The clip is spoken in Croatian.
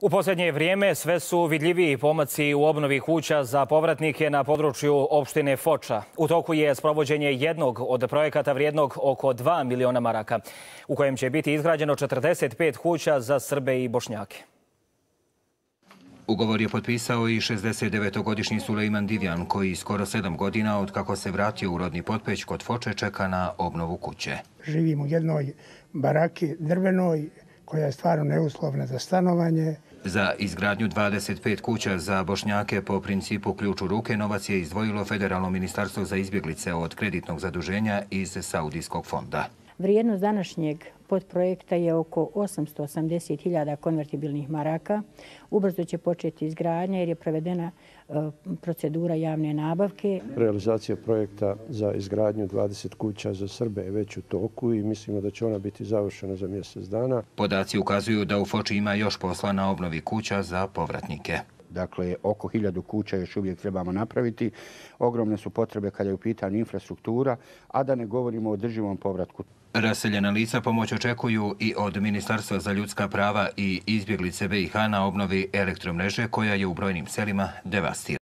U posljednje vrijeme sve su vidljiviji pomaci u obnovi kuća za povratnike na području opštine Foča. U toku je sprovođenje jednog od projekata vrijednog oko 2 miliona maraka, u kojem će biti izgrađeno 45 kuća za Srbe i Bošnjake. Ugovor je potpisao i 69-godišnji Sulejman Divjan, koji skoro 7 godina od kako se vratio u rodni Potpeć kod Foče čeka na obnovu kuće. Živim u jednoj baraki drvenoj koja je stvarno neuslovna za stanovanje. Za izgradnju 25 kuća za Bošnjake po principu ključ u ruke novac je izdvojilo Federalno ministarstvo za izbjeglice od kreditnog zaduženja iz Saudijskog fonda. Vrijednost današnjeg podprojekta je oko 880.000 konvertibilnih maraka. Ubrzo će početi izgradnja jer je provedena procedura javne nabavke. Realizacija projekta za izgradnju 20 kuća za Srbe je već u toku i mislimo da će ona biti završena za mjesec dana. Podaci ukazuju da u Foči ima još posla na obnovi kuća za povratnike. Dakle, oko 1000 kuća još uvijek trebamo napraviti. Ogromne su potrebe kada je u pitanju infrastruktura, a da ne govorimo o održivom povratku. Raseljena lica pomoć očekuju i od Ministarstva za ljudska prava i izbjeglice BiH na obnovi elektromreže koja je u brojnim selima devastirana.